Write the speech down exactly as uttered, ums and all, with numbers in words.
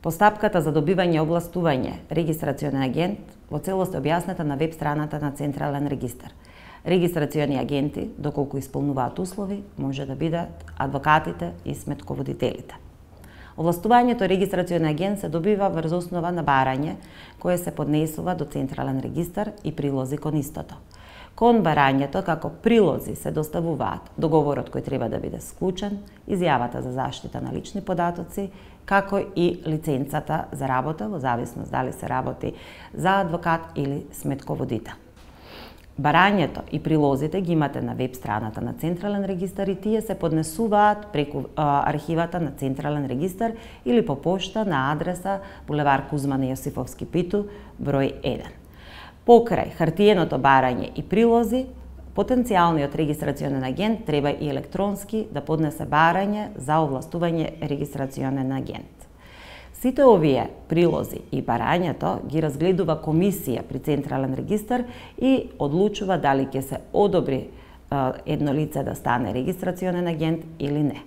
Постапката за добивање овластување регистрацијонен агент во целост е објаснета на веб страната на Централен регистар. Регистрацијони агенти, доколку исполнуваат услови, може да бидат адвокатите и сметководителите. Овластувањето регистрацијонен агент се добива врз основа на барање кое се поднесува до Централен регистар и прилози кон истото. Кон барањето како прилози се доставуваат договорот кој треба да биде склучен, изјавата за заштита на лични податоци, како и лиценцата за работа, во зависност дали се работи за адвокат или сметководител. Барањето и прилозите ги имате на веб страната на Централен регистар и тие се поднесуваат преку а, архивата на Централен регистар или по пошта на адреса булевар Кузман Јосифовски Питу, број еден. Покрај хартиеното барање и прилози, потенцијалниот регистрацијонен агент треба и електронски да поднесе барање за овластување регистрацијонен агент. Сите овие прилози и барањето ги разгледува комисија при Централен регистар и одлучува дали ќе се одобри едно лице да стане регистрацијонен агент или не.